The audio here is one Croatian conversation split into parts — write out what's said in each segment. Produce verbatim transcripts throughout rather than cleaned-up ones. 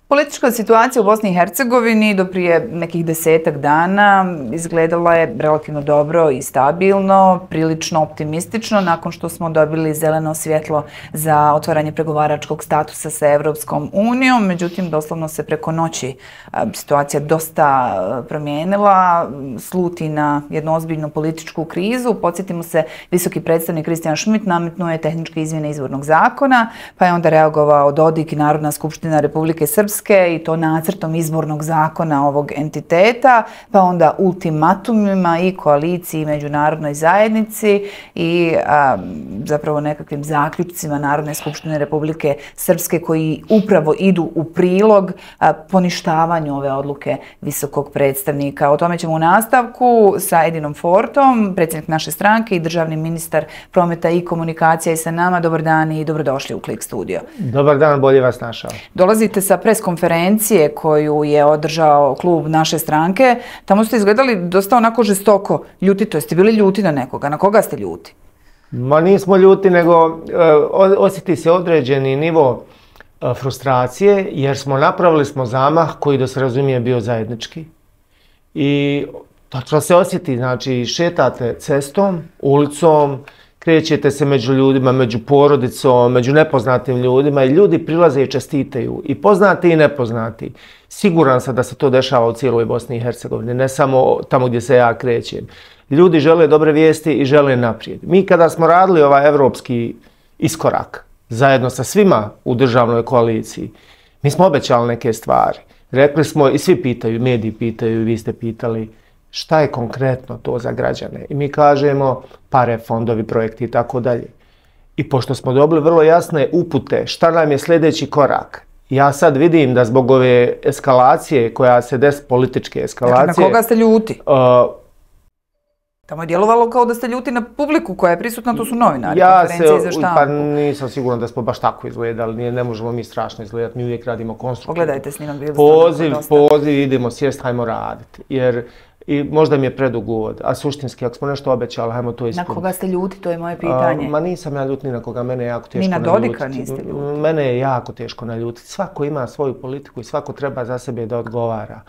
Politička situacija u Bosni i Hercegovini do prije nekih desetak dana izgledala je relativno dobro i stabilno, prilično optimistično nakon što smo dobili zeleno svjetlo za otvaranje pregovaračkog statusa sa Evropskom unijom. Međutim, doslovno se preko noći situacija dosta promijenila, sluti na jednu ozbiljnu političku krizu. Podsjetimo se, visoki predstavnik Kristijan Šmit nametnuo je tehničke izmjene izbornog zakona, pa je onda reagovao Dodik i Narodna skupština Republike Srpske i to nacrtom izbornog zakona ovog entiteta, pa onda ultimatumima i koaliciji i međunarodnoj zajednici i a, zapravo nekakvim zaključcima Narodne skupštine Republike Srpske koji upravo idu u prilog a, poništavanju ove odluke visokog predstavnika. O tome ćemo u nastavku sa Edinom Fortom, predsjednik naše stranke i državni ministar prometa i komunikacija i sa nama. Dobar dan i dobrodošli u Klik studio. Dobar dan, bolje vas našao. Dolazite sa pres konferencije koju je održao klub naše stranke. Tamo ste izgledali dosta onako žestoko ljuti, to jeste bili ljuti na nekoga. Na koga ste ljuti? Ma nismo ljuti, nego osjeti se određeni nivo frustracije, jer smo napravili smo zamah koji, da se razumije, bio zajednički. I točno se osjeti, znači šetate cestom, ulicom, krećete se među ljudima, među porodicom, među nepoznatim ljudima i ljudi prilaze i čestitaju, i poznati i nepoznati. Siguran sam da se to dešava u cijeloj Bosni i Hercegovini, ne samo tamo gdje se ja krećem. Ljudi žele dobre vijesti i žele naprijed. Mi kada smo radili ovaj evropski iskorak, zajedno sa svima u državnoj koaliciji, mi smo obećali neke stvari. Rekli smo, i svi pitaju, mediji pitaju, vi ste pitali, šta je konkretno to za građane? I mi kažemo pare, fondovi, projekti i tako dalje. I pošto smo dobili vrlo jasne upute šta nam je sljedeći korak, ja sad vidim da zbog ove eskalacije koja se des, političke eskalacije... Dakle, na koga ste ljuti? Uh, Tamo je djelovalo kao da ste ljuti na publiku koja je prisutna, to su novinari, ja konferencije za se, štampu. Pa nisam siguran da smo baš tako izgledali, ne, ne možemo mi strašno izgledati, mi uvijek radimo konstruktivno. Pogledajte snimak, bili ste poziv, poziv, idemo sjest, hajmo raditi, jer i možda mi je predug uvod, a suštinski, ako smo nešto obećali, hajmo to ispuniti. Na koga ste ljuti, to je moje pitanje. A, ma nisam ja ljut ni na koga, mene je jako teško naljutiti. Ni na Dodika niste ljuti. Mene je jako teško naljutiti. Svako ima svoju politiku i svako treba za sebe da odgovara.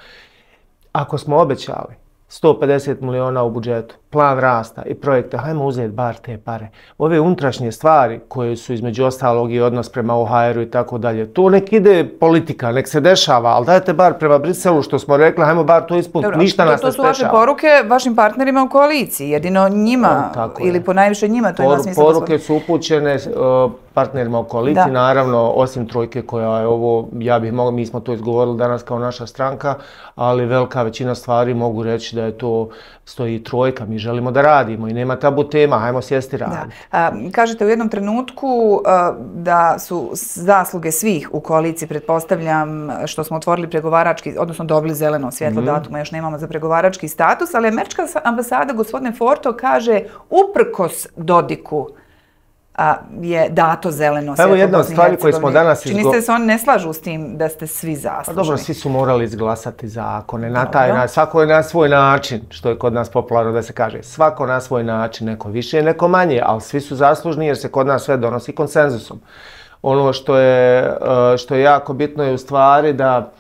Ako smo obećali sto pedeset miliona u budžetu, plan rasta i projekte, hajmo uzeti bar te pare. Ove unutrašnje stvari koje su između ostalog i odnos prema O H R-u i tako dalje, to nek ide politika, nek se dešava, ali dajte bar prema Briselu što smo rekli, hajmo bar to ispuniti, ništa nas ne sprečava. To su vaše poruke vašim partnerima u koaliciji, jedino njima, o, ili po najviše njima, to ima smisla. Poruke su upućene uh, partnerima u koaliciji, da. Naravno, osim trojke koja je ovo, ja bih mogla, mi smo to izgovorili danas kao naša stranka, ali velika većina stvari mogu reći da je to stoji trojka, mi želimo da radimo i nema tabu tema, hajmo sjesti raditi. Da. Kažete u jednom trenutku a, da su zasluge svih u koaliciji, pretpostavljam, što smo otvorili pregovarački, odnosno dobili zeleno svjetlo, mm. datuma još nemamo za pregovarački status, ali američka ambasada, gospodine Forto, kaže uprkos Dodiku a, je dato zeleno svjetlo. Evo jedna od stvari koje smo danas izgo... Čini se da se oni ne slažu s tim da ste svi zaslužni. Pa dobro, svi su morali izglasati zakone na taj način. Svako je na svoj način, što je kod nas popularno da se kaže. Svako na svoj način, neko više, neko manje, ali svi su zaslužni jer se kod nas sve donosi konsenzusom. Ono što je, što je jako bitno je u stvari da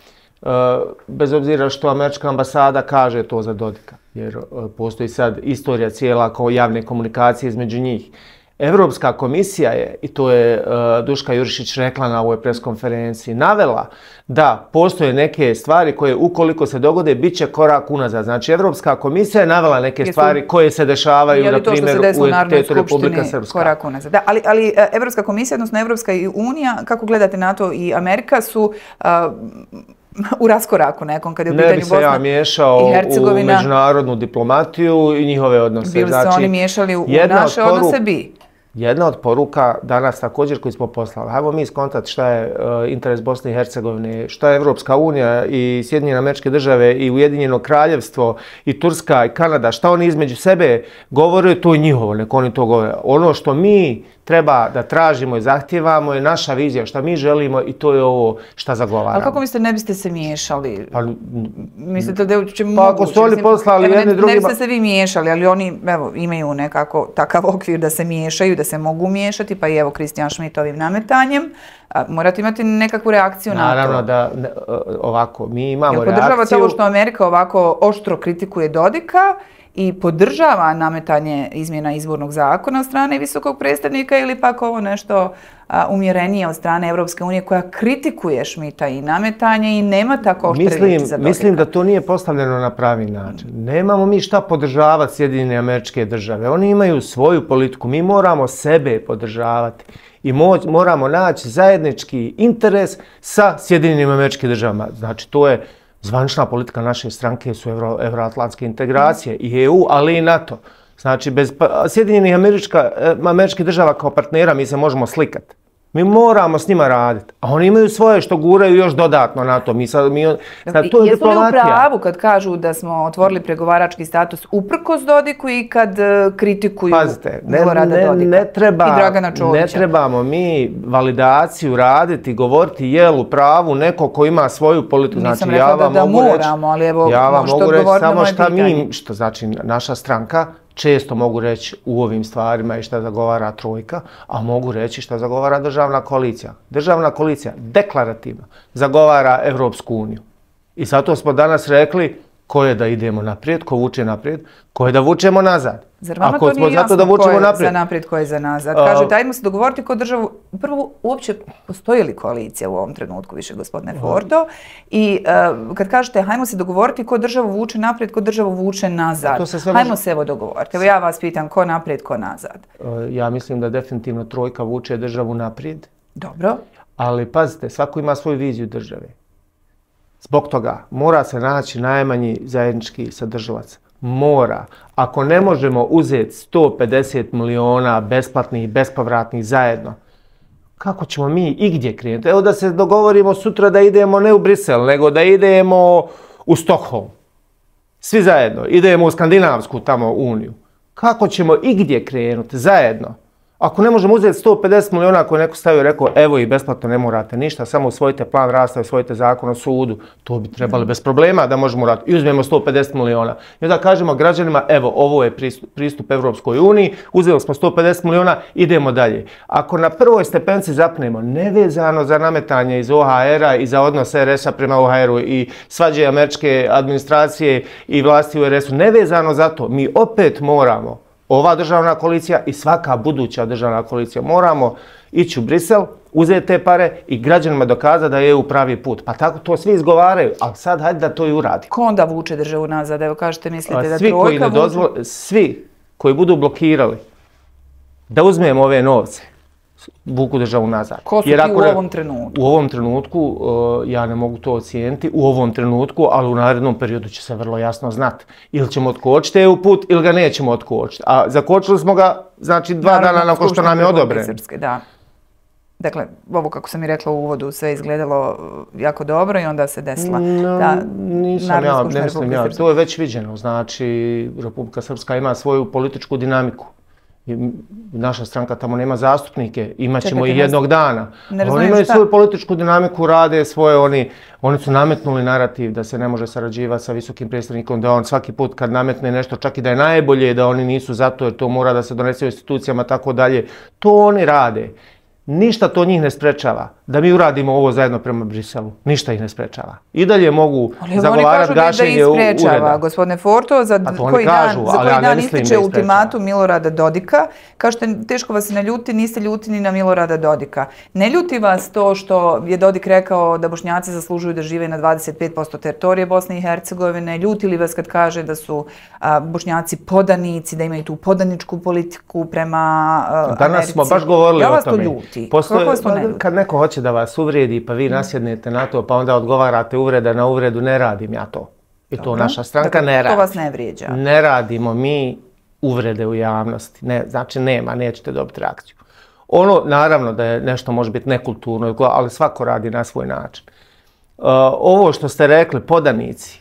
bez obzira što američka ambasada kaže to za Dodika, jer postoji sad istorija cijela kao javne komunikacije između njih. Evropska komisija je, i to je uh, Duška Jurišić rekla na ovoj preskonferenciji, navela da postoje neke stvari koje ukoliko se dogode bit će korak unazad. Znači Evropska komisija je navela neke Jesu, stvari koje se dešavaju na primjer u entitetu Republika Srpska. Korak unazad. Da, ali, ali Evropska komisija, odnosno Evropska unija, kako gledate NATO i Amerika su uh, u raskoraku nekom kad je u pitanju Bosna i Hercegovina. Ne bi se ja miješao u međunarodnu diplomatiju i njihove odnose. Bili znači, se oni miješali u naše poru... odnose bi? Jedna od poruka danas također koji smo poslali, hajmo mi skontati šta je uh, interes Bosne i Hercegovine, šta je Evropska unija i Sjedinjene Američke Države i Ujedinjeno Kraljevstvo i Turska i Kanada, šta oni između sebe govore, to je njihovo, nek oni to govore. Ono što mi treba da tražimo i zahtijevamo je naša vizija, šta mi želimo i to je ovo šta zagovaramo. Ali kako mislite, ne biste se miješali? Pa, mislite da je uopće pa ako su oni poslali evo, jedni ne, drugima... Ne biste se vi miješali, ali oni evo, imaju nekako takav okvir da se miješaju, da se mogu miješati, pa i evo Kristijan Schmidt ovim nametanjem. A, morate imati nekakvu reakciju na to. Naravno da ne, ovako, mi imamo Jel reakciju... podržavate ovo što Amerika ovako oštro kritikuje Dodika i podržava nametanje izmjena izbornog zakona od strane visokog predstavnika ili pak ovo nešto a, umjerenije od strane Europske unije koja kritikuje Schmidta i nametanje i nema tako oštre mislim, riječi za Dodika? Mislim da to nije postavljeno na pravi način. Nemamo mi šta podržavati Sjedinjene Američke Države. Oni imaju svoju politiku. Mi moramo sebe podržavati. I moramo naći zajednički interes sa Sjedinjenim Američkim Državama. Znači, to je zvanična politika naše stranke, su Euro, euroatlantske integracije i E U, ali i NATO. Znači, bez Sjedinjenih Američkih Država kao partnera mi se možemo slikati. Mi moramo s njima raditi, a oni imaju svoje što guraju još dodatno na to. Mi sad, mi, sad, to je Jesu li u diplomatija. pravu kad kažu da smo otvorili pregovarački status uprkos Dodiku i kad uh, kritikuju Pazite, ne, Milorada ne, Dodika ne treba, i Dragana Čovića? Ne trebamo mi validaciju raditi, govoriti jel u pravu neko ko ima svoju politiku. Nisam Znači, rekla ja vam da, da mogu moramo, ali evo reći, ja vam možete mogu reći odgovoriti na samo moje šta pitanje. mi, što znači naša stranka, često mogu reći u ovim stvarima i šta zagovara Trojka, a mogu reći šta zagovara državna koalicija. Državna koalicija deklarativno zagovara Evropsku uniju. I zato smo danas rekli ko je da idemo naprijed, ko vuče naprijed, ko je da vučemo nazad. Zar vama Ako to nije zato jasno da ko vučemo je naprijed. za naprijed, ko je za nazad? A, Kažete, ajmo se dogovoriti ko državu... Prvo, uopće postoji li koalicija u ovom trenutku više, gospodine Forto? I uh, kad kažete, hajmo se dogovoriti ko državu vuče naprijed, ko državu vuče nazad. To se sve hajmo može... se evo dogovoriti. Evo ja vas pitam, ko naprijed, ko nazad? Ja mislim da definitivno Trojka vuče državu naprijed. Dobro. Ali pazite, svako ima svoju viziju države. Zbog toga mora se naći najmanji zajednički sadržavac. Mora. Ako ne možemo uzeti sto pedeset miliona besplatnih i bespovratnih zajedno, kako ćemo mi igdje krenuti? Evo da se dogovorimo sutra da idemo ne u Brisel, nego da idemo u Stockholm. Svi zajedno. Idemo u Skandinavsku tamo uniju. Kako ćemo igdje krenuti zajedno? Ako ne možemo uzeti sto pedeset miliona koje neko stavio i rekao evo i besplatno ne morate ništa, samo usvojite plan rasta i usvojite zakon o sudu, to bi trebali bez problema da možemo raditi. I uzmemo sto pedeset miliona. I onda kažemo građanima evo ovo je pristup, pristup Evropskoj uniji, uzeli smo sto pedeset miliona, idemo dalje. Ako na prvoj stepenci zapnemo nevezano za nametanje iz O H R-a i za odnos R S-a prema O H R-u i svađe američke administracije i vlasti u R S-u, nevezano za to, mi opet moramo ova državna koalicija i svaka buduća državna koalicija moramo ići u Brisel, uzeti te pare i građanima dokazati da je E U pravi put. Pa tako to svi izgovaraju, ali sad hajde da to i uradi. Ko onda vuče državu nazad? Evo kažete, mislite da svi Trojka koji ne vuče? dozvole, svi koji budu blokirali da uzmemo ove novce, vuku državu nazad. Ko su Jer ti u ako, ovom trenutku? U ovom trenutku, uh, ja ne mogu to ocijeniti, u ovom trenutku, ali u narednom periodu će se vrlo jasno znati. Ili ćemo otkočiti E U put, ili ga nećemo otkočiti. A zakočili smo ga, znači, dva Narodna dana nakon što nam je Republike odobren. Srpske, da. Dakle, ovo kako sam i rekla u uvodu, sve izgledalo jako dobro i onda se desila No, ta nisam Narodna ja, skupština ne mislim Republike ja. Srpske. To je već viđeno. Znači, Republika Srpska ima svoju političku dinamiku. I naša stranka tamo nema zastupnike, imat ćemo Čekajte, i jednog dana. ne Oni razumijem imaju šta? svoju političku dinamiku, rade svoje, oni, oni su nametnuli narativ da se ne može sarađivati sa visokim predstavnikom, da on svaki put kad nametne nešto, čak i da je najbolje, da oni nisu zato jer to mora da se donese u institucijama, tako dalje. To oni rade. Ništa to njih ne sprečava da mi uradimo ovo zajedno prema Briselu. Ništa ih ne sprečava. I dalje mogu zagovarati gašenje ureda. Ali oni kažu da ih sprečava, gospodine Forto, za koji dan, za koji dan ističe ultimatum Milorada Dodika. Kažete, teško vas se ne ljuti, niste ljuti ni na Milorada Dodika. Ne ljuti vas to što je Dodik rekao da Bošnjaci zaslužuju da žive na dvadeset pet posto teritorije Bosne i Hercegovine? Ljuti li vas kad kaže da su a, Bošnjaci podanici, da imaju tu podaničku politiku prema a, Americi? Danas smo baš govorili ja o tome. Ljuti. Postoje, Kako vas to ne ljuti? Kad neko hoće da vas uvredi pa vi nasjednete na to pa onda odgovarate uvreda na uvredu, ne radim ja to. I to Dobro. naša stranka Dakle, ne radi. To vas ne vrijeđa. Ne radimo mi uvrede u javnosti. Ne, znači nema, nećete dobiti reakciju. Ono, naravno da je nešto može biti nekulturno, ali svako radi na svoj način. Uh, ovo što ste rekli, podanici,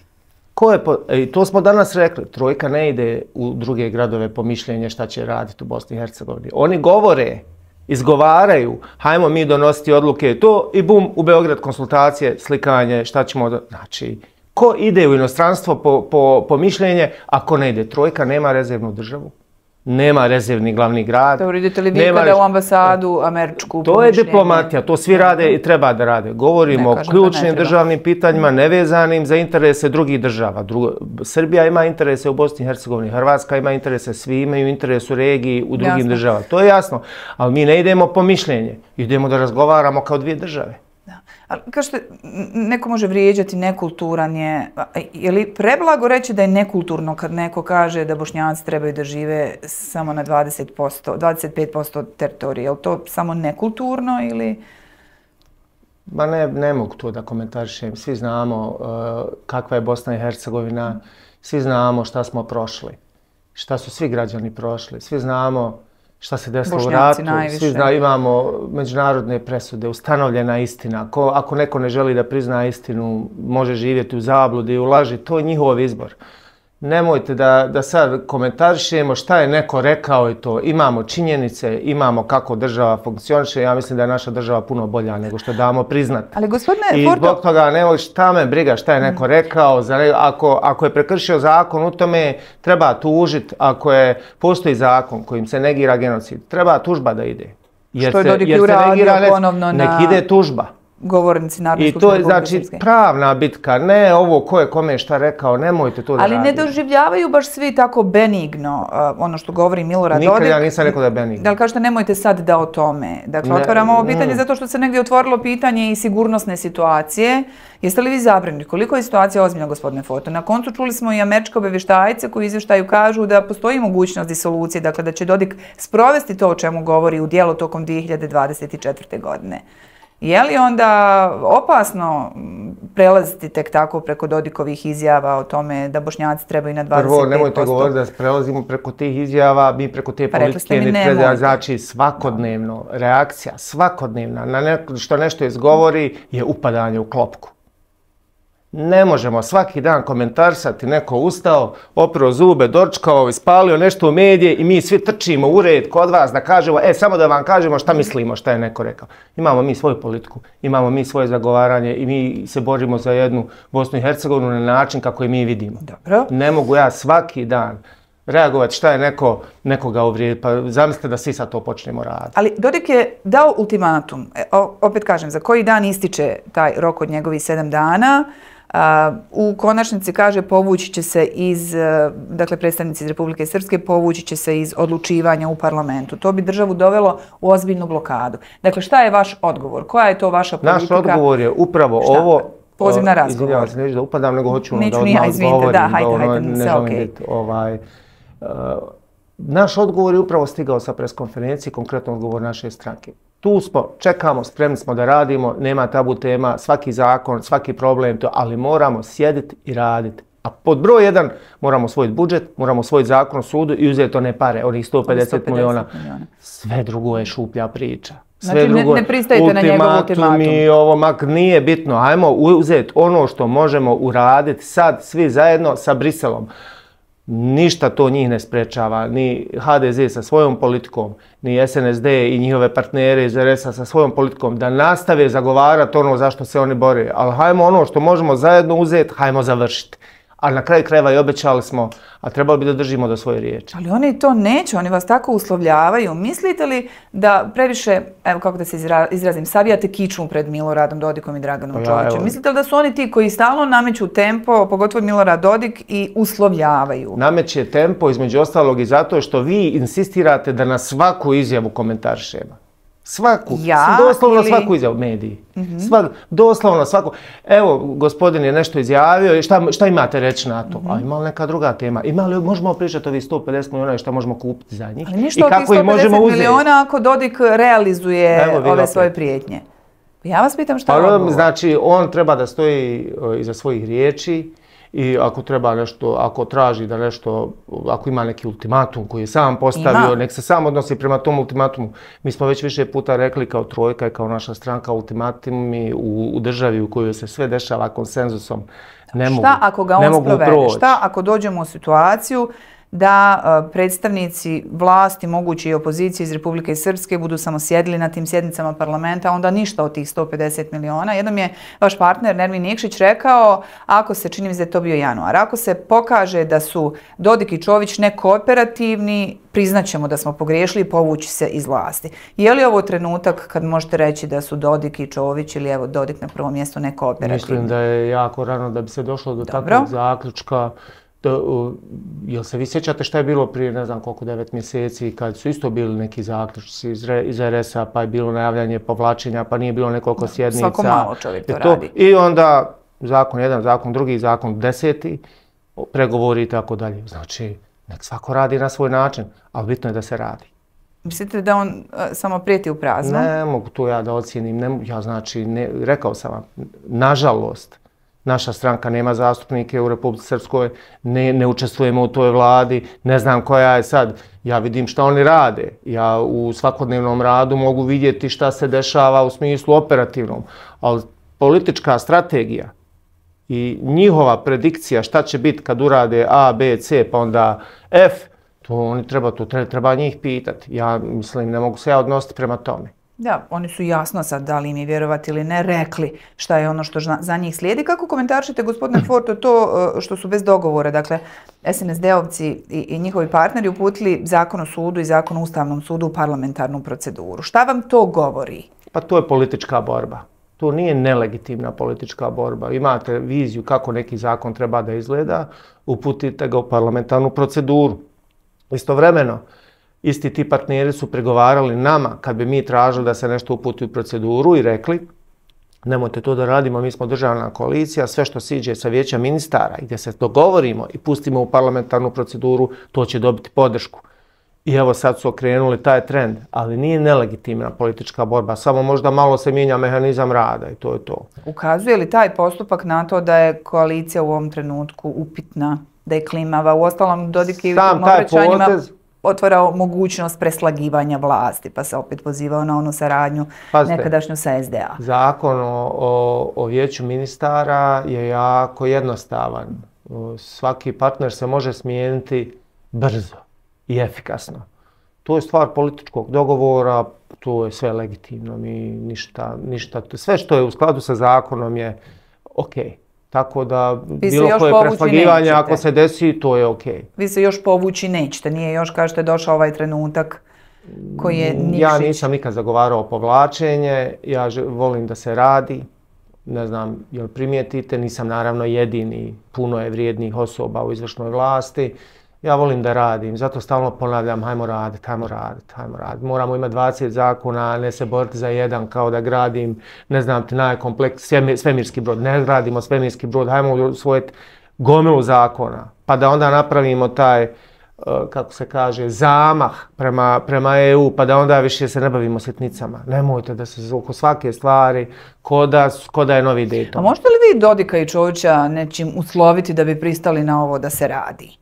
ko je po, i to smo danas rekli, Trojka ne ide u druge gradove po mišljenje šta će raditi u Bosni i Hercegovini. Oni govore izgovaraju, hajmo mi donositi odluke, to i bum, u Beograd konsultacije, slikanje, šta ćemo, do... znači, ko ide u inostranstvo po, po, po mišljenje, ako ne ide trojka, nema rezervnu državu. Nema rezervni glavni grad. Dobro, idete li vi kada u ambasadu američku? To je diplomatija, to svi rade i treba da rade. Govorimo o ključnim državnim pitanjima nevezanim za interese drugih država. Srbija ima interese u Bosni i Hercegovini, Hrvatska ima interese, svi imaju interes u regiji, u drugim državama. To je jasno, ali mi ne idemo po mišljenje, idemo da razgovaramo kao dvije države. Ali kažete, neko može vrijeđati, nekulturan je. Je li preblago reći da je nekulturno kad neko kaže da Bošnjaci trebaju da žive samo na dvadeset posto, dvadeset pet posto teritorije? Je li to samo nekulturno ili... Ma ne, ne mogu to da komentarišem. Svi znamo uh, kakva je Bosna i Hercegovina, svi znamo šta smo prošli, šta su svi građani prošli, svi znamo šta se desilo u ratu, svi zna, imamo međunarodne presude, ustanovljena istina. Ko, ako neko ne želi da prizna istinu, može živjeti u zabludi, u laži, to je njihov izbor. Nemojte da, da sad komentarišemo šta je neko rekao i to. Imamo činjenice, imamo kako država funkcioniše. Ja mislim da je naša država puno bolja nego što damo priznat. Ali gospodine I Forto... zbog toga ne šta me briga šta je neko rekao. Za ne, ako, ako je prekršio zakon u tome, treba tužiti. Ako je postoji zakon kojim se negira genocid, treba tužba da ide. Jer što je Dodik i uradio ponovno na... Nek ide tužba. Govornici Narodne skupštine Republike Srpske. I to je znači pravna bitka, ne ovo ko je kome šta rekao, nemojte to da radite. Ali ne doživljavaju baš svi tako benigno ono što govori Milorad Dodik. Nikad ja nisam rekao da je benigno. Da li kažete nemojte sad da o tome? Dakle, otvaramo ovo pitanje zato što se negdje otvorilo pitanje i sigurnosne situacije. Jeste li vi zabrinuti? Koliko je situacija ozbiljna, gospodine Forto? Na koncu čuli smo i američke obavještajce koji u izvještaju kažu da postoji mogućnost disolucije, dakle da će Dodik sprovesti to o čemu govori u djelo tokom dvije hiljade dvadeset četvrte. godine. Je li onda opasno prelaziti tek tako preko Dodikovih izjava o tome da Bošnjaci trebaju na dvadeset pet posto? Prvo, nemojte govoriti da prelazimo preko tih izjava, mi preko te politike ne treba, znači svakodnevno reakcija, svakodnevna na neko što nešto izgovori je upadanje u klopku. Ne možemo svaki dan komentarsati, neko ustao, oprao zube, dočkao, ispalio nešto u medije i mi svi trčimo u red kod vas da kažemo, e, samo da vam kažemo šta mislimo, šta je neko rekao. Imamo mi svoju politiku, imamo mi svoje zagovaranje i mi se borimo za jednu Bosnu i Hercegovinu na način kako je mi vidimo. Dobro. Ne mogu ja svaki dan reagovati šta je neko, nekoga uvrijediti, pa zamislite da svi sad to počnemo raditi. Ali Dodik je dao ultimatum, e, opet kažem, za koji dan ističe taj rok od njegovih sedam dana, Uh, u konačnici kaže povući će se iz, uh, dakle predstavnici iz Republike Srpske povući će se iz odlučivanja u parlamentu. To bi državu dovelo u ozbiljnu blokadu. Dakle, šta je vaš odgovor? Koja je to vaša politika? Naš odgovor je upravo šta? Ovo... Poziv na razgovor. Izvinjavam se, neću da upadam, nego hoću ono Neću da nija, odmah izvinite, odgovorim. Da, hajde, hajde, ono, sve okej. Okay. Ovaj, uh, naš odgovor je upravo stigao sa preskonferencije, konkretno odgovor naše stranke. Tu smo, čekamo, spremni smo da radimo, nema tabu tema, svaki zakon, svaki problem, to, ali moramo sjediti i raditi. A pod broj jedan moramo osvojiti budžet, moramo osvojiti zakon o sudu i uzeti one pare, onih sto pedeset miliona. Sve drugo je šuplja priča. Sve znači drugo, ne, ne pristajete na njegov ultimatum. I ovo mak nije bitno, ajmo uzeti ono što možemo uraditi sad svi zajedno sa Briselom. Ništa to njih ne sprečava, ni ha de ze sa svojom politikom, ni es en es de i njihove partnere iz er es a sa svojom politikom, da nastave zagovarati ono zašto se oni bore. Ali hajmo ono što možemo zajedno uzeti, hajmo završiti. Ali na kraju krajeva i obećali smo, a trebali bi da držimo do svoje riječi. Ali oni to neće, oni vas tako uslovljavaju. Mislite li da previše, evo kako da se izrazim, savijate kičmu pred Miloradom Dodikom i Draganom Čovićem? Mislite li da su oni ti koji stalno nameću tempo, pogotovo Milorad Dodik, i uslovljavaju? Nameće tempo između ostalog i zato što vi insistirate da na svaku izjavu komentarišemo. Svaku, ja, doslovno ili... svaku izjavu mediji. Mm-hmm. Svak, doslovno svaku. Evo, gospodin je nešto izjavio i šta, šta imate reći na to? Mm-hmm. A ima li neka druga tema? Ima li, možemo pričati o ovih sto pedeset miliona i šta možemo kupiti za njih? Ali ništa od tih sto pedeset miliona ako Dodik realizuje ove opet. svoje prijetnje. Ja vas pitam šta je odgovor? Znači, on treba da stoji iza svojih riječi. I ako treba nešto, ako traži da nešto, ako ima neki ultimatum koji je sam postavio, ima. Nek se sam odnosi prema tom ultimatumu. Mi smo već više puta rekli kao Trojka i kao naša stranka, ultimatumi u, u državi u kojoj se sve dešava konsenzusom ne mogu, šta ako ga on sprovede? Šta ako dođemo u situaciju da predstavnici vlasti, mogući i opozicije iz Republike Srpske budu samo sjedili na tim sjednicama parlamenta, onda ništa od tih sto pedeset miliona. Jednom je vaš partner Nermin Nikšić rekao, ako se, čini mi se da je to bio januar, ako se pokaže da su Dodik i Čović nekooperativni, priznaćemo da smo pogriješili i povući se iz vlasti. Je li ovo trenutak kad možete reći da su Dodik i Čović ili evo Dodik na prvom mjestu nekooperativni? Mislim da je jako rano da bi se došlo do takvog zaključka. Jel se vi sjećate šta je bilo prije ne znam koliko devet mjeseci kad su isto bili neki zaključci iz er es a, pa je bilo najavljanje povlačenja, pa nije bilo nekoliko sjednica. Svako malo čovjek to radi. I onda zakon jedan, zakon drugi, zakon deseti, pregovori i tako dalje. Znači, nek svako radi na svoj način, ali bitno je da se radi. Mislite da on samo prijeti u prazno? Ne mogu to ja da ocijenim. Ja znači, rekao sam vam, nažalost, naša stranka nema zastupnike u Republici Srpskoj, ne, ne učestvujemo u toj vladi, ne znam koja je sad. Ja vidim šta oni rade. Ja u svakodnevnom radu mogu vidjeti šta se dešava u smislu operativnom. Ali politička strategija i njihova predikcija šta će biti kad urade A, B, C pa onda F, to oni treba, to treba njih pitati. Ja mislim, ne mogu se ja odnositi prema tome. Da, oni su jasno sad, da li im je vjerovati ili ne, rekli šta je ono što za njih slijedi. Kako komentarišete, gospodine Forto, to što su bez dogovora, dakle, es en es de-ovci i njihovi partneri uputili Zakon o sudu i Zakon o Ustavnom sudu u parlamentarnu proceduru? Šta vam to govori? Pa to je politička borba. To nije nelegitimna politička borba. Imate viziju kako neki zakon treba da izgleda, uputite ga u parlamentarnu proceduru. Istovremeno, isti ti partneri su pregovarali nama kad bi mi tražili da se nešto uputi u proceduru i rekli nemojte to da radimo, mi smo državna koalicija, sve što siđe sa vijeća ministara i gdje se dogovorimo i pustimo u parlamentarnu proceduru, to će dobiti podršku. I evo sad su okrenuli taj trend, ali nije nelegitimna politička borba, samo možda malo se mijenja mehanizam rada i to je to. Ukazuje li taj postupak na to da je koalicija u ovom trenutku upitna, da je klimava? Uostalom, Dodik je u tim obraćanjima otvarao mogućnost preslagivanja vlasti, pa se opet pozivao na onu saradnju nekadašnju sa es de a. Zakon o vijeću ministara je jako jednostavan. Svaki partner se može smijeniti brzo i efikasno. To je stvar političkog dogovora, to je sve legitimno. Mi ništa, ništa, sve što je u skladu sa zakonom je okej. Tako da bilo koje preslagivanje ako se desi, to je okej. Vi se još povući nećete, nije još kažete došao ovaj trenutak koji je Nikšić. Ja nisam nikad zagovarao povlačenje, ja volim da se radi, ne znam jel primijetite, nisam naravno jedini, puno je vrijednih osoba u izvršnoj vlasti. Ja volim da radim, zato stalno ponavljam, hajmo raditi, hajmo raditi, hajmo raditi. Moramo imati dvadeset zakona, ne se boriti za jedan kao da gradim, ne znam ti, najkompleks, svemirski brod. Ne gradimo svemirski brod, hajmo usvojiti gomilu zakona. Pa da onda napravimo taj, kako se kaže, zamah prema, prema e u, pa da onda više se ne bavimo sitnicama. Nemojte da se oko svake stvari, ko da, ko da je novi Dayton. A možete li vi Dodika i Čovića nečim usloviti da bi pristali na ovo da se radi?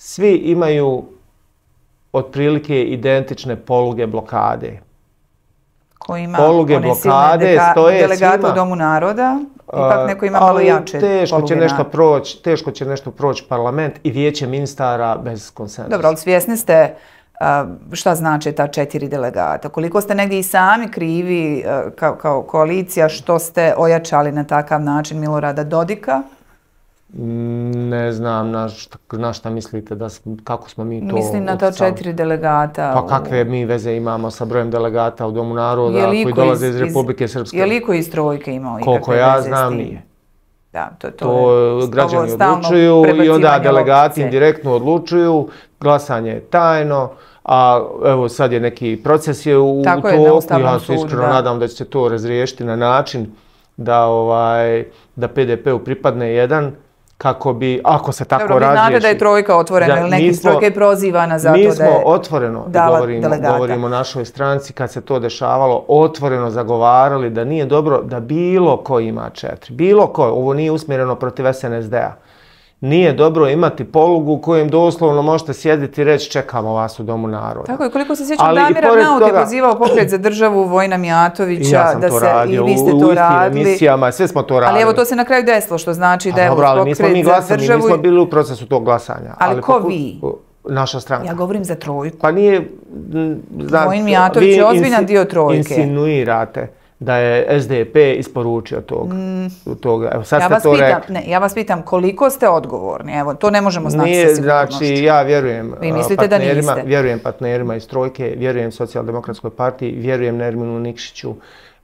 Svi imaju otprilike identične poluge blokade. Ko ima poluge one blokade silne delegate u Domu naroda, ipak neko ima malo jače teško će nešto proći, teško će nešto proći parlament i vijeće ministara bez konsenzusa. Dobro, ali svjesni ste šta znači ta četiri delegata? Koliko ste negdje i sami krivi kao, kao koalicija što ste ojačali na takav način Milorada Dodika? Ne znam na šta, na šta mislite, da, kako smo mi to... Mislim na ta četiri delegata. Pa kakve mi veze imamo sa brojem delegata u Domu naroda koji dolaze iz Republike Srpske? Je li iko iz trojke imao ikakve veze s tim? Koliko ja znam nije. Da, to, to, to je građani odlučuju i onda delegati indirektno odlučuju, glasanje je tajno, a evo sad je neki proces je u toku, ja se iskreno nadam da će se to razriješiti na način da, ovaj, da pe de pe u pripadne jedan, kako bi, ako se tako razriješi... Dobro, vi znate da je trojka otvorena, ili neki trojka je prozivana za to da je Mi smo otvoreno, govorimo, govorimo o našoj stranci, kad se to dešavalo, otvoreno zagovarali da nije dobro da bilo ko ima četiri. Bilo ko, ovo nije usmjereno protiv es en es de a. Nije dobro imati polugu u kojem doslovno možete sjediti i reći čekamo vas u Domu naroda. Tako je, koliko se sjećam, Damir Arnaut je pozivao Pokret za državu Vojina Mijatovića. Ja sam da to se, radio, i vi ste u, to u radili. emisijama, sve smo to radili. Ali evo to se na kraju desilo, što znači da je Dobro, ali nismo mi Pokret za glasali, državu... nismo bili u procesu tog glasanja. Ali, ali ko poku... vi? Naša stranka. Ja govorim za trojku. Pa nije... Znači, Vojin Mijatović je ozbiljan dio trojke. Insinuirate da je S D P isporučio tog, mm. toga. Evo, sad ja, ste vas to pitam, rekli. ne, ja vas pitam koliko ste odgovorni, evo, to ne možemo znati Nije, sa sigurnošću. Znači, ja vjerujem Vi mislite da niste? Vjerujem partnerima iz Trojke, vjerujem Socijaldemokratskoj partiji, vjerujem Nerminu Nikšiću.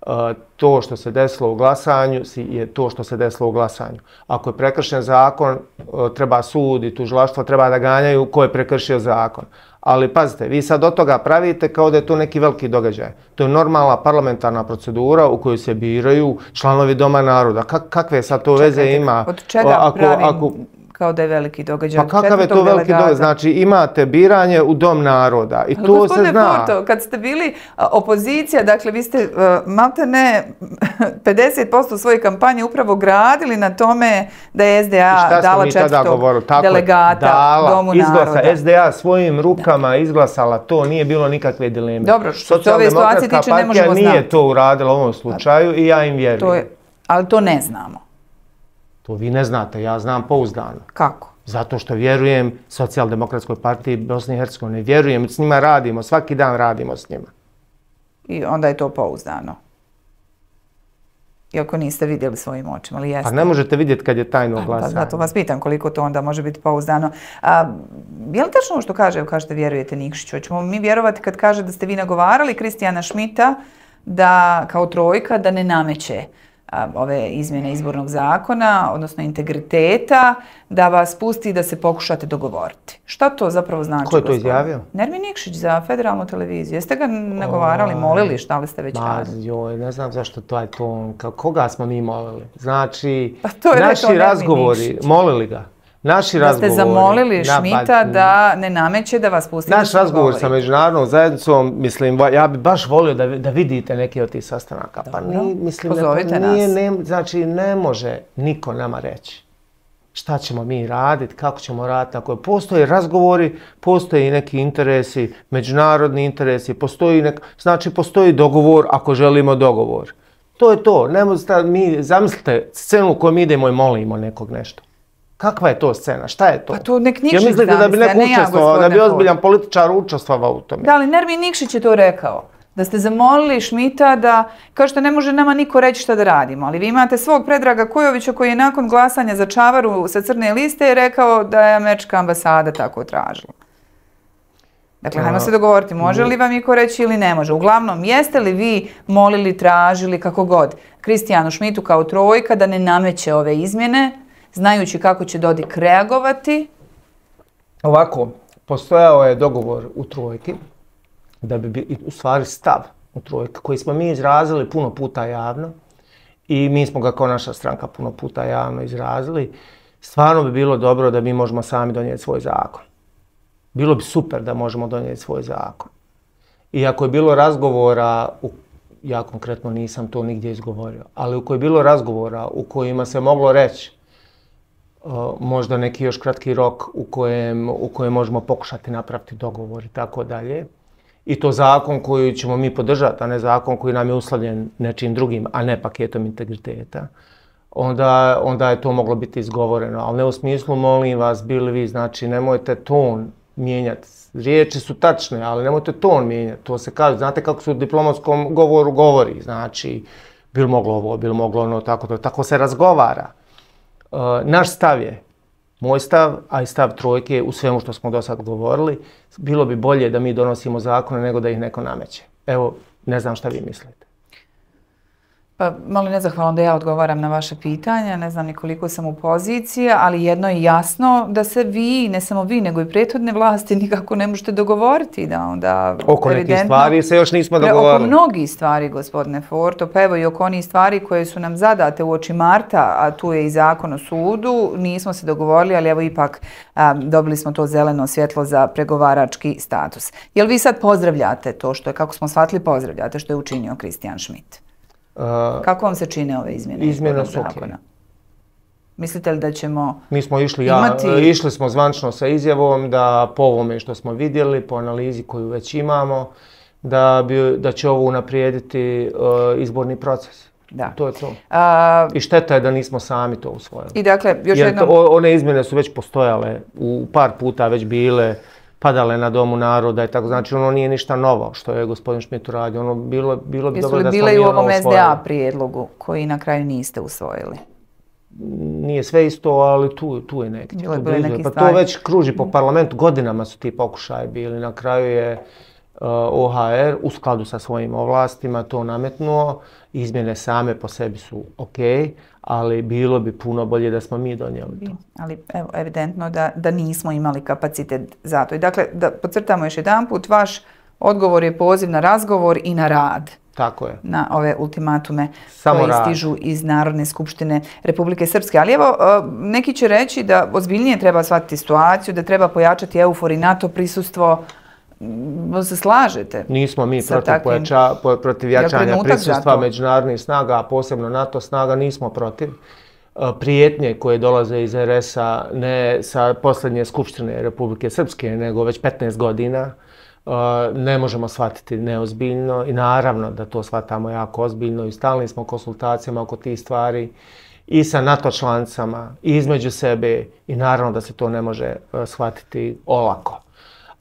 Uh, to što se desilo u glasanju je to što se desilo u glasanju. Ako je prekršen zakon, uh, treba sud i tužilaštvo treba da ganjaju ko je prekršio zakon. Ali pazite, vi sad od toga pravite kao da je to neki veliki događaj. To je normalna parlamentarna procedura u kojoj se biraju članovi Doma naroda. Kak, kakve sad to veze Čekajte, ima? Od čega ako, pravim ako, kao da je veliki događaj? Pa kakav je to veliki događaj? Znači imate biranje u Dom naroda i ali to se zna. Porto, kad ste bili opozicija, dakle vi ste uh, malte ne pedeset posto svoje kampanje upravo gradili na tome da je S D A dala četvrtog delegata dala, Domu izglasa, naroda. S D A svojim rukama da. izglasala to, nije bilo nikakve dileme. Dobro, što se ove situacije tiče ne možemo znati. Nije to uradila u ovom slučaju i ja im vjerujem. To je, ali to ne znamo. To vi ne znate, ja znam pouzdano. Kako? Zato što vjerujem Socijaldemokratskoj partiji Bosne i Hercegovine. Vjerujem, s njima radimo, svaki dan radimo s njima. I onda je to pouzdano. Iako niste vidjeli svojim očima, ali jeste? Pa ne možete vidjeti kad je tajno glasanje. Pa zato vas pitam koliko to onda može biti pouzdano. A, je li tačno što kaže, kažete vjerujete Nikšiću? Hoćemo mi vjerovati kad kaže da ste vi nagovarali Kristijana Šmita da, kao trojka, da ne nameće ove izmjene izbornog zakona, odnosno integriteta, da vas pusti da se pokušate dogovoriti. Šta to zapravo znači? Ko je to izjavio? Nermin Nikšić za federalnu televiziju. Jeste ga nagovarali, molili, šta li ste već radili? Joj, ne znam zašto to je ton. Koga smo mi molili? Znači, pa to je naši razgovori, molili ga. Naši da razgovori, ste zamolili Šmita da ne nameće da vas pusti naš razgovor sa međunarodnom zajednicom, mislim, ja bi baš volio da, da vidite neke od tih sastanaka. Pa ni, mislim, pozovite ne, nije, nas. Ne, znači, ne može niko nama reći šta ćemo mi raditi, kako ćemo raditi. Ako postoje razgovori, postoje i neki interesi, međunarodni interesi, postoji nek, znači postoji dogovor ako želimo dogovor. To je to. Ne možete, mi, zamislite scenu u kojoj mi idemo i molimo nekog nešto. Kakva je to scena? Šta je to? Pa to nek Nikšić ja mislite da bi neko učestvovao, da bi ozbiljan političar učestvovao u tome? Da, ali Nermin Nikšić je to rekao. Da ste zamolili Šmita da, kao što ne može nama niko reći šta da radimo, ali vi imate svog Predraga Kojovića koji je nakon glasanja za Čavaru sa crne liste rekao da je američka ambasada tako tražila. Dakle, hajmo se dogovoriti, može li vam iko reći ili ne može. Uglavnom, jeste li vi molili, tražili, kako god, Kristijanu Šmitu kao trojka da ne nameće ove izmjene, znajući kako će Dodik reagovati? Ovako, postojao je dogovor u trojki, da bi bi u stvari stav u trojki, koji smo mi izrazili puno puta javno i mi smo ga kao naša stranka puno puta javno izrazili. Stvarno bi bilo dobro da mi možemo sami donijeti svoj zakon. Bilo bi super da možemo donijeti svoj zakon. I ako je bilo razgovora, u, ja konkretno nisam to nigdje izgovorio, ali u kojoj je bilo razgovora u kojima se moglo reći uh, možda neki još kratki rok u kojem, u kojem možemo pokušati napraviti dogovor i tako dalje. I to zakon koji ćemo mi podržati, a ne zakon koji nam je uslovljen nečim drugim, a ne paketom integriteta. Onda, onda je to moglo biti izgovoreno, ali ne u smislu, molim vas, bili vi, znači nemojte ton mijenjati. Riječi su tačne, ali nemojte ton mijenjati. To se kaže, znate kako se u diplomatskom govoru govori, znači, bil moglo ovo, bil moglo ono, tako to, tako se razgovara. Uh, naš stav je, moj stav, a i stav trojke u svemu što smo do sad govorili, bilo bi bolje da mi donosimo zakone nego da ih neko nameće. Evo, ne znam šta vi mislite. Pa malo nezahvalno da ja odgovaram na vaše pitanja, ne znam ni koliko sam u poziciji, ali jedno je jasno da se vi, ne samo vi, nego i prethodne vlasti nikako ne možete dogovoriti. Da onda, oko nekih stvari se još nismo dogovorili. Oko mnogih stvari, gospodine Forto, pa evo i oko onih stvari koje su nam zadate u oči marta, a tu je i zakon o sudu, nismo se dogovorili, ali evo ipak a, dobili smo to zeleno svjetlo za pregovarački status. Jel vi sad pozdravljate to što je, kako smo shvatili, pozdravljate što je učinio Kristijan Šmit? Uh, Kako vam se čine ove izmjene? Izmjene su okej. Mislite li da ćemo Mi smo išli, imati... ja, išli smo zvančno sa izjavom da po ovome što smo vidjeli, po analizi koju već imamo, da, bi, da će ovo unaprijediti uh, izborni proces. Da. To je to. A... I šteta je da nismo sami to usvojili. I dakle, još Jer jednom... to, one izmjene su već postojale, u par puta već bile, padale na Domu naroda i tako. Znači ono nije ništa novo što je gospodin Schmidt uradio. Ono bilo, bilo bi dobro da smo mi ono usvojili. Jesu li bile i u ovom S D A prijedlogu koji na kraju niste usvojili? Nije sve isto, ali tu, tu je neki. Bilo je bili neki pa to već kruži po parlamentu, godinama su ti pokušaji bili. Na kraju je uh, O H R u skladu sa svojim ovlastima to nametnuo. Izmjene same po sebi su ok, ali bilo bi puno bolje da smo mi donijeli to. Ali evo, evidentno da, da nismo imali kapacitet za to. I dakle, da podcrtamo još jedan put, vaš odgovor je poziv na razgovor i na rad. Tako je. Na ove ultimatume Samo koji rad. stižu iz Narodne skupštine Republike Srpske. Ali evo, neki će reći da ozbiljnije treba shvatiti situaciju, da treba pojačati EUFOR i NATO prisustvo. Se slažete? Nismo mi protiv, takvim... pojača, protiv jačanja prisustva međunarodnih snaga, a posebno NATO snaga, nismo protiv. Prijetnje koje dolaze iz R S-a ne sa posljednje skupštine Republike Srpske, nego već petnaest godina, ne možemo shvatiti neozbiljno i naravno da to shvatamo jako ozbiljno i stalni smo konsultacijama oko tih stvari i sa NATO članicama i između sebe i naravno da se to ne može shvatiti olako.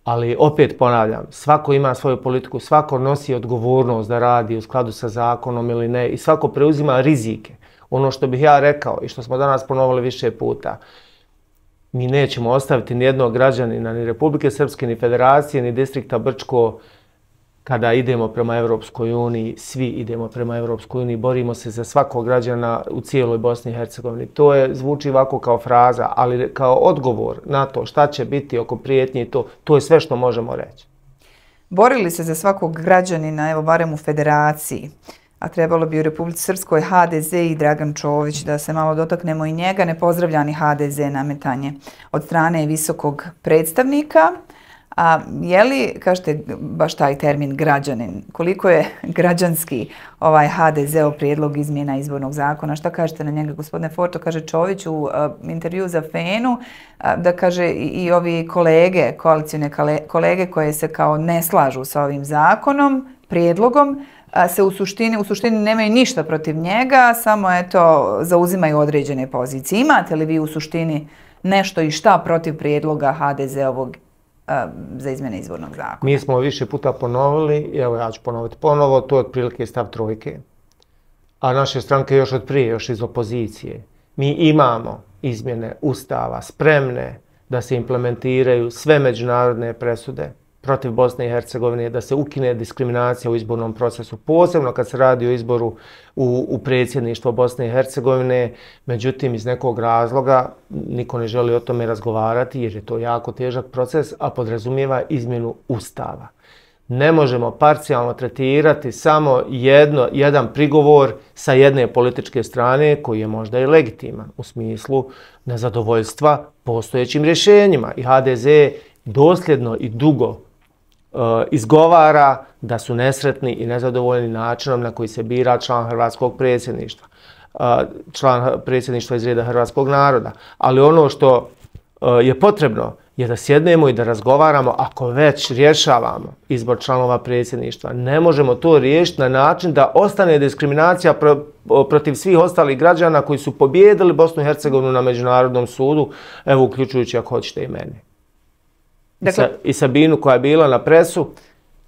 Ali opet ponavljam, svako ima svoju politiku, svako nosi odgovornost da radi u skladu sa zakonom ili ne i svako preuzima rizike. Ono što bih ja rekao i što smo danas ponovili više puta, mi nećemo ostaviti nijednog građanina, ni Republike Srpske, ni Federacije, ni distrikta Brčko kada idemo prema Evropskoj uniji, svi idemo prema Evropskoj uniji, borimo se za svakog građana u cijeloj Bosni i Hercegovini. To je, zvuči ovako kao fraza, ali kao odgovor na to šta će biti oko prijetnje i to, to je sve što možemo reći. Borili se za svakog građanina, evo barem u Federaciji, a trebalo bi u Republici Srpskoj H D Z i Dragan Čović, da se malo dotaknemo i njega, nepozdravljani H D Z nametanje od strane visokog predstavnika. A je li, kažete baš taj termin građanin, koliko je građanski ovaj H D Z-ov prijedlog izmjena izbornog zakona? Šta kažete na njega, gospodine Forto? Kaže Čović u uh, intervju za Fenu, uh, da kaže i, i ovi kolege, koalicijne kolege koje se kao ne slažu sa ovim zakonom, prijedlogom, uh, se u suštini, u suštini nemaju ništa protiv njega, samo eto zauzimaju određene pozicije. Imate li vi u suštini nešto i šta protiv prijedloga H D Z-ovog za izmjene izbornog zakona? Mi smo više puta ponovili, evo ja ću ponoviti ponovo, to je otprilike stav trojke, a naše stranke još od prije, još iz opozicije. Mi imamo izmjene Ustava spremne da se implementiraju sve međunarodne presude protiv Bosne i Hercegovine, da se ukine diskriminacija u izbornom procesu, posebno kad se radi o izboru u, u predsjedništvo Bosne i Hercegovine. Međutim, iz nekog razloga niko ne želi o tome razgovarati jer je to jako težak proces, a podrazumijeva izmjenu Ustava. Ne možemo parcijalno tretirati samo jedno, jedan prigovor sa jedne političke strane koji je možda i legitiman u smislu nezadovoljstva postojećim rješenjima. I H D Z dosljedno i dugo izgovara da su nesretni i nezadovoljni načinom na koji se bira član hrvatskog predsjedništva, član predsjedništva iz reda hrvatskog naroda. Ali ono što je potrebno je da sjednemo i da razgovaramo, ako već rješavamo izbor članova predsjedništva. Ne možemo to riješiti na način da ostane diskriminacija protiv svih ostalih građana koji su pobijedili Bosnu i Hercegovinu na Međunarodnom sudu, evo uključujući ako hoćete i mene. Dakle, I, sa, I Sabinu koja je bila na presu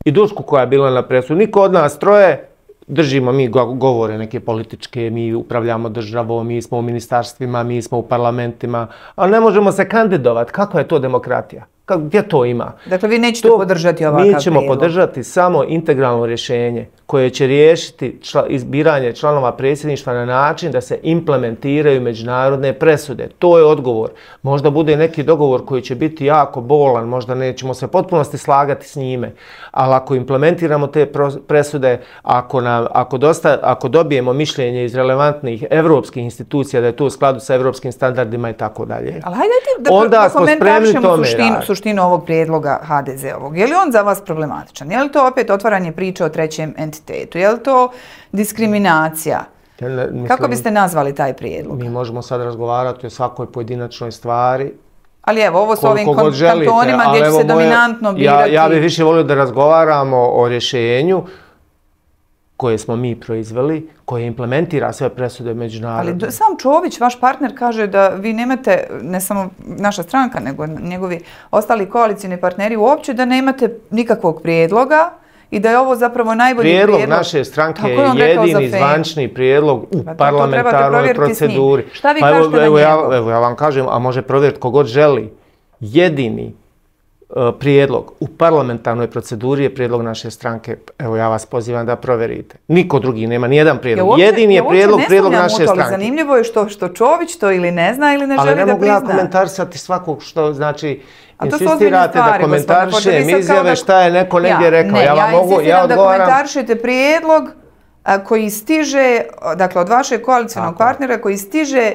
i Dušku koja je bila na presu. Niko od nas troje držimo mi govore neke političke, mi upravljamo državom, mi smo u ministarstvima, mi smo u parlamentima, ali ne možemo se kandidovati. Kakva je to demokratija? Gdje to ima? Dakle, vi nećete to, podržati ovakav prijedlog? Mi ćemo prijedlog. podržati samo integralno rješenje koje će riješiti čla, izbiranje članova predsjedništva na način da se implementiraju međunarodne presude. To je odgovor. Možda bude neki dogovor koji će biti jako bolan, možda nećemo se potpunosti slagati s njime, ali ako implementiramo te presude, ako, nam, ako, dosta, ako dobijemo mišljenje iz relevantnih evropskih institucija da je to u skladu sa evropskim standardima i tako dalje, ali hajde da, onda da smo spremni tome suštinu, raditi. suštinu ovog prijedloga H D Z-ovog. Je li on za vas problematičan? Je li to opet otvaranje priče o trećem entitetu? Je li to diskriminacija? Kako biste nazvali taj prijedlog? Mi možemo sad razgovarati o svakoj pojedinačnoj stvari. Ali evo, ovo s ovim kantonima gdje će se dominantno birati... Ja bih više volio da razgovaramo o rješenju koje smo mi proizveli, koje implementira sve presude međunarodne. Ali sam Čović, vaš partner, kaže da vi nemate, ne samo naša stranka, nego njegovi ostali koalicijni partneri uopće, da nemate nikakvog prijedloga i da je ovo zapravo najbolji prijedlog. Prijedlog naše stranke je jedini zvančni prijedlog u parlamentarnoj proceduri. Šta vi kažete na njegu? Evo ja vam kažem, a može provjeriti kogod želi. Jedini prijedlog u parlamentarnoj proceduri je prijedlog naše stranke. Evo ja vas pozivam da provjerite. Niko drugi nema, nijedan prijedlog. Jedini je prijedlog, prijedlog naše stranke. Zanimljivo je što, što Čović to ili ne zna ili ne želi da prizna. Ali ne mogu ja komentarisati svakog što znači... Insistirate da komentarišem izjave šta je neko negdje rekao. Ne, ja insistiram da komentarišete prijedlog koji stiže, dakle od vašeg koalicijnog partnera koji stiže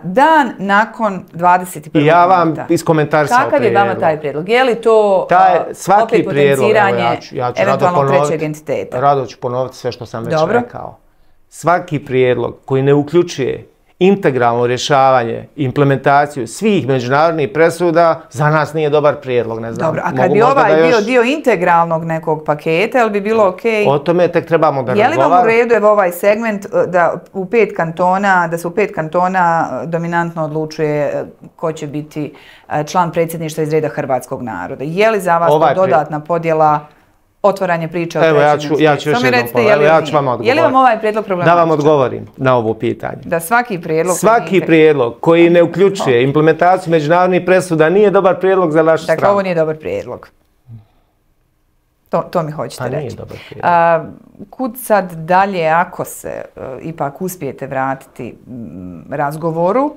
dan nakon dvadeset prvog Ja vam iskomentarisao prijedlog. Kakav je vama taj prijedlog? Je li to opet potenciranje eventualnog trećeg entiteta? Rado ću ponoviti sve što sam već rekao. Svaki prijedlog koji ne uključuje integralno rješavanje, implementaciju svih međunarodnih presuda za nas nije dobar prijedlog, ne znam. Dobro, a kad bi ovaj bio dio integralnog nekog paketa, ili bi bilo okej? O tome tek trebamo da razgovaramo. Je li vam u redu evo ovaj segment da u pet kantona, da se u pet kantona dominantno odlučuje ko će biti član predsjedništva iz reda hrvatskog naroda? Je li za vas to dodatna podjela otvaranje priče o trećem entitetu? Ja ću još jednom povedati, ja ću vam odgovoriti. Je li vam ovaj prijedlog problematičan? Da vam odgovorim na ovo pitanje. Da svaki prijedlog... Svaki prijedlog koji ne uključuje implementaciju međunarodnih presuda nije dobar prijedlog za našu stranu. Dakle, ovo nije dobar prijedlog. To mi hoćete reći. Pa nije dobar prijedlog. Kud sad dalje, ako se ipak uspijete vratiti razgovoru,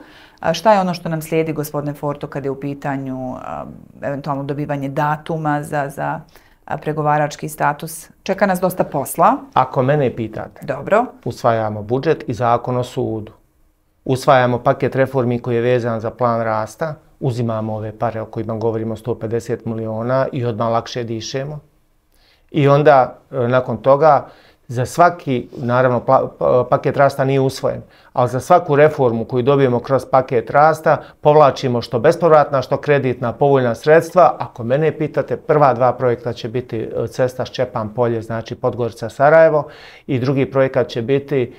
šta je ono što nam slijedi, gospodine Forto, kad je u pitanju eventualno dobivanje datuma za pregovarački status? Čeka nas dosta posla. Ako mene pitate, dobro, usvajamo budžet i zakon o sudu. Usvajamo paket reformi koji je vezan za plan rasta. Uzimamo ove pare o kojima govorimo, sto pedeset miliona, i odmah lakše dišemo. I onda, nakon toga, za svaki, naravno, paket rasta nije usvojen, ali za svaku reformu koju dobijemo kroz paket rasta povlačimo što bespovratna, što kreditna, povoljna sredstva. Ako mene pitate, prva dva projekta će biti cesta Ščepan Polje, znači Podgorica-Sarajevo, i drugi projekat će biti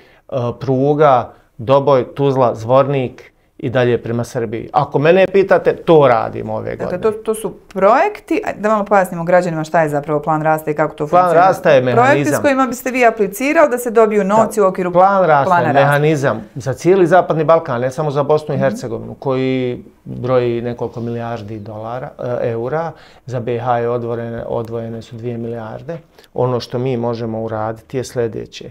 pruga Doboj, Tuzla, Zvornik i dalje prema Srbiji. Ako mene pitate, to radimo ove godine. Dakle, to su projekti, da malo pojasnimo građanima šta je zapravo plan rasta i kako to funkcionira. Plan rasta je mehanizam. Projekti s kojima biste vi aplicirali da se dobiju novci u okviru plana rasta. Plan rasta je mehanizam za cijeli Zapadni Balkan, ne samo za Bosnu i Hercegovinu, koji broji nekoliko milijardi dolara, eura. Za B iH je odvojene, odvojene su dvije milijarde. Ono što mi možemo uraditi je sljedeće.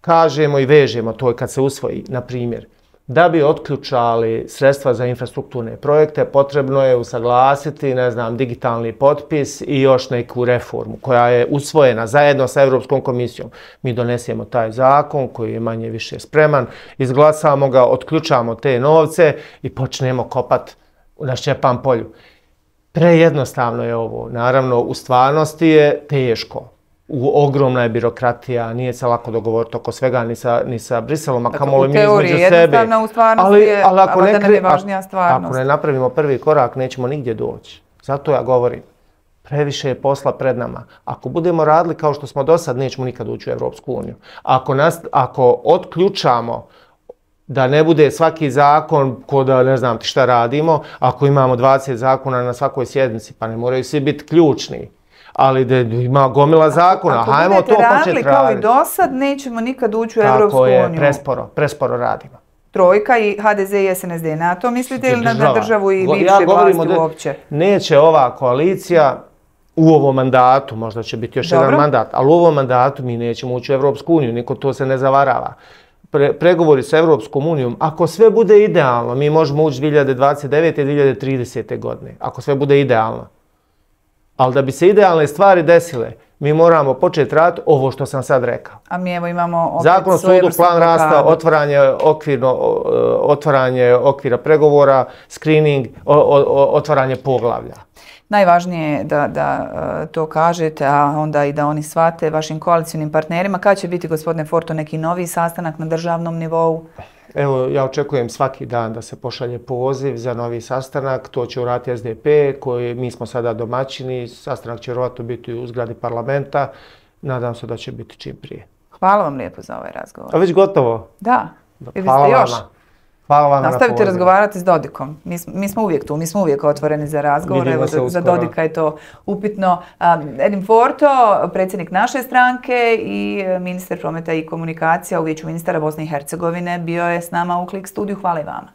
Kažemo i vežemo to kad se usvoji, na primjer, da bi otključali sredstva za infrastrukturne projekte, potrebno je usaglasiti, ne znam, digitalni potpis i još neku reformu koja je usvojena zajedno sa Europskom komisijom. Mi donesemo taj zakon koji je manje više spreman, izglasamo ga, otključamo te novce i počnemo kopat na Ščepan polju. Prejednostavno je ovo. Naravno, u stvarnosti je teško. Ogromna je birokratija, nije se lako dogovoriti oko svega ni sa, ni sa Briselom, a kamoli mi između sebe. U teoriji jednostavno, u stvarnosti je, ali ako ne, nam je važnija stvarnost. Ako ne napravimo prvi korak, nećemo nigdje doći. Zato ja govorim, previše je posla pred nama. Ako budemo radili kao što smo do sad, nećemo nikad ući u Evropsku uniju. Ako, nas, ako otključamo da ne bude svaki zakon ko da ne znam ti šta radimo, ako imamo dvadeset zakona na svakoj sjednici, pa ne moraju svi biti ključni. Ali da ima gomila zakona, hajmo to početi raditi. Ako budete radili kao i do sad, nećemo nikad ući u Evropsku uniju. Tako je, presporo, presporo radimo. Trojka i H D Z i S N S D. Na to mislite ili na državu i bivše vlasti uopće? Neće ova koalicija u ovom mandatu, možda će biti još jedan mandat, ali u ovom mandatu mi nećemo ući u Evropsku uniju, niko to se ne zavarava. Pregovori sa Evropskom unijom, ako sve bude idealno, mi možemo ući dvije hiljade dvadeset devete. i dvije hiljade tridesete. godine, ako sve bude idealno. Ali da bi se idealne stvari desile, mi moramo početi raditi ovo što sam sad rekao. A mi evo imamo opet Zakon o sudu, plan rasta, otvaranje, okvirno, otvaranje okvira pregovora, screening, otvaranje poglavlja. Najvažnije je da, da uh, to kažete, a onda i da oni shvate vašim koalicijnim partnerima. Kada će biti, gospodine Forto, neki novi sastanak na državnom nivou? Evo, ja očekujem svaki dan da se pošalje poziv za novi sastanak. To će uraditi S D P, koji mi smo sada domaćini. Sastanak će vjerojatno biti u zgradi parlamenta. Nadam se da će biti čim prije. Hvala vam lijepo za ovaj razgovor. A već gotovo? Da. Vi Hvala biste još? vama. Hvala vam na Nastavite pozivu. razgovarati s Dodikom. Mi, mi smo uvijek tu, mi smo uvijek otvoreni za razgovor. Vidimo Evo, se za, za uskoro. Dodika je to upitno. Um, Edin Forto, predsjednik naše stranke i ministar prometa i komunikacija u Vijeću ministara Bosne i Hercegovine, bio je s nama u Klik studiju. Hvala i vama.